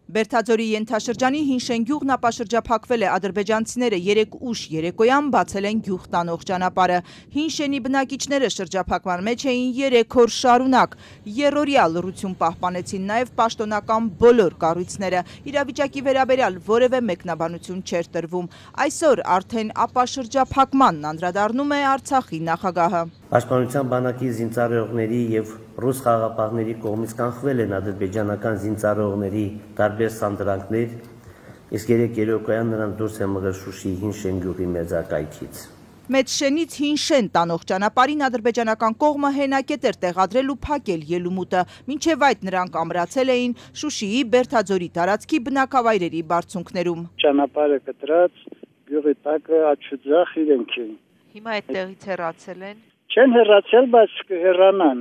Բերդաձորի ենթաշրջանի Հինշեն գյուղն ապաշրջափակվել է, ադրբեջանցիները 3 ուշ երեկոյան բացել են գյուղ տանող ճանապարհը։ Հինշենի բնակիչները շրջափակման մեջ էին 3 օր շարունակ։ Երրորդյա լռություն պահպանեցին նաև պաշտոնական բոլոր կառույցները։ Իրավիճակի վերաբերյալ որևէ մեկնաբանություն չէր տրվում։ Այսօր արդեն ապաշրջափակմանն անդրադառնում է Արցախի նախագահը։ Պաշտպանության բանակի զինծառայողների եւ ռուս խաղաղապահների կողմից կանխվել են ադրբեջանական զինծառայողների տարբեր սանդրանքներ, իսկ երեկոյան նրանց դուրս է մղել Շուշիի Հինշեն գյուղի մերձակայքից։ Մեծշենից Հինշեն տանող ճանապարհին ադրբեջանական կողմը հենակետ էր տեղադրել ու փակել ելումուտը, մինչև այդ նրանք ամրացել էին Շուշիի Բերդաձորի տարածքի բնակավայրերի բարձունքներում։ Ճանապարհը կտրած, գյուղի տակը աչուձախ իրենք են։ Հիմա այդտեղից հեռացել են։ Չեն հեռացել, բայց կհեռանան,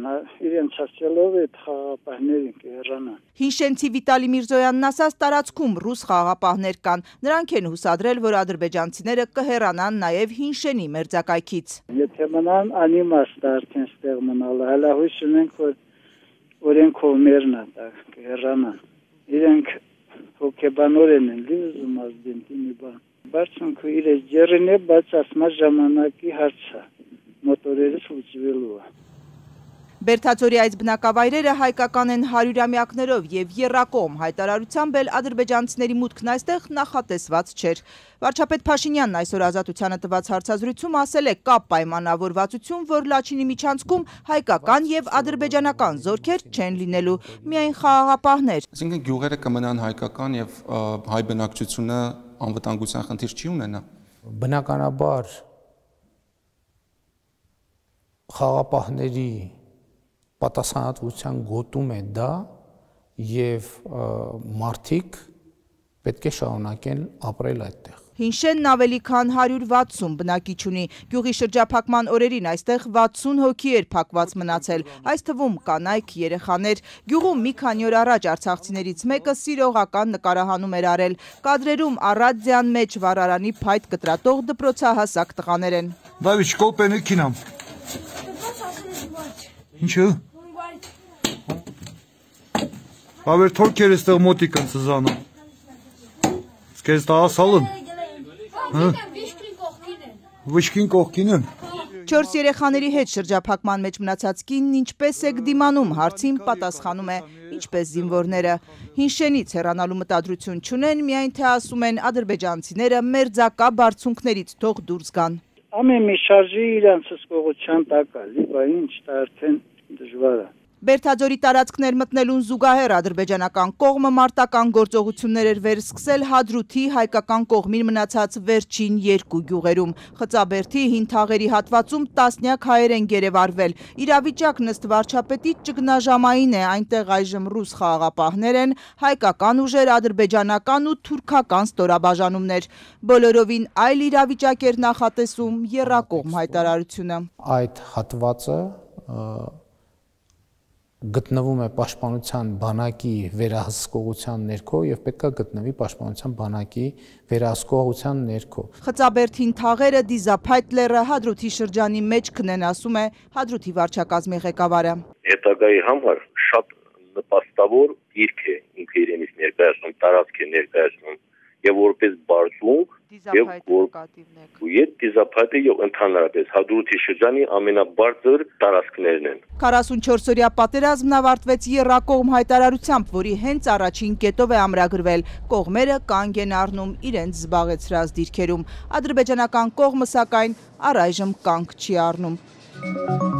իրենց ասելով այդ խաղաղապահներին կհեռանան։ Հինշենցի Վիտալի Միրզոյանն ասաց, տարածքում ռուս խաղաղապահներ կան։ Նրանք են հուսադրել, որ ադրբեջանցիները կհեռանան նաև Հինշենի մերձակայքից։ Եթե մնան, անիմաստ արդեն ստեղ մնալը, հալահույս ունենք, որ օրենքով մերն է կհեռանան։ Իրենք հոգեբանորեն են լիզում ազդենտի մի բան։ Բարձունքը իրենց ջերին է, բայց ասմա ժամանակի հարց է։ Մոտորերս ուծվելու է։ Բերդաձորի այս բնակավայրերը հայկական են 100-ամյակներով եւ եռակողմ հայտարարությամբ էլ ադրբեջանցիների մուտքն այստեղ նախատեսված չէր։ Վարչապետ Փաշինյանն այսօր Ազատությանը տված հարցազրույցում ասել է՝ կա պայմանավորվածություն, որ Լաչինի միջանցքում հայկական եւ ադրբեջանական զորքեր չեն լինելու, միայն խաղաղապահներ։ Այսինքն գյուղերը կմնան հայկական եւ հայ բնակչությունը անվտանգության խնդիր չի ունենա։ Բնականաբար խաղաղապահների պատասխանատվության գոտում է դա եւ մարդիկ պետք է շարունակեն ապրել այդտեղ։ Հինշենն ավելի քան 160 բնակիչ ունի։ Գյուղի շրջափակման օրերին այստեղ 60 հոգի էր փակված մնացել, այս թվում կանայք, երեխաներ։ Գյուղում մի քանի օր առաջ արցախցիներից մեկը սիրողական նկարահանում էր արել։ Կադրերում առադիան մեջ վառարանի փայտ կտրատող դպրոցահասակ տղաներ են։ Դավիթ, կոպենը քինամ։ Ինչը։ Բավեր թորքեր էստեղ մոտիկ են սզանում։ Սկեզ տա ասալն։ Վիշկին կողքին են։ 4 երեխաների հետ շրջափակման մեջ մնացած կինն ինչպես է դիմանում հարցին պատասխանում է ինչպես զինվորները։ Հինշենից հեռանալու մտադրություն չունեն, միայն թե ասում են ադրբեջանցիները մերձակա բարձունքներից թող դուրս գան։ Ամեն մի շարժի իրանց հսկողության տակ է, լիբա ինչ դա արդեն դժվար է։ Բերդաձորի տարածքներ մտնելուն զուգահեռ ադրբեջանական կողմը մարտական գործողություններ էր վերսկսել Հադրութի հայկական կողմին մնացած վերջին 2 գյուղերում։ Խծաբերդի հին թաղերի հատվածում տասնյակ հայեր են գերեվարվել։ Իրավիճակն ըստ վարչապետի ճգնաժամային է, այնտեղ այժմ ռուս խաղաղապահներ են, հայկական ուժեր, ադրբեջանական ու թուրքական ստորաբաժանումներ։ Բոլորովին այլ իրավիճակ էր նախատեսում եռակողմ հայտարարությունը։ Այդ հատվածը գտնվում է պաշտպանության բանակի վերահսկողության ներքո եւ պետք է գտնվի պաշտպանության բանակի վերահսկողության ներքո։ Խծաբերդին թաղերը դիզափայտ լեռը Հադրութի շրջանի մեջ քնեն, ասում է Հադրութի վարչակազմի ղեկավարը։ Հետագայի համար շատ նպաստավոր դիրք է ինքը իրենից ներկայացնում, տարածք է ներկայացնում եւ որպես բարձունք եւ դիզափայտը եւ ընդհանրապես Հադրութի շրջանի ամենաբարձր տարածքներն են։ 44-օրյա պատերազմն ավարտվեց եռակողմ հայտարարությամբ, որի հենց առաջին կետով է ամրագրվել։ Կողմերը կանգ են առնում իրենց զբաղեցրած դիրքերում։ Ադրբեջանական կողմը սակայն առայժմ կանգ չի առնում։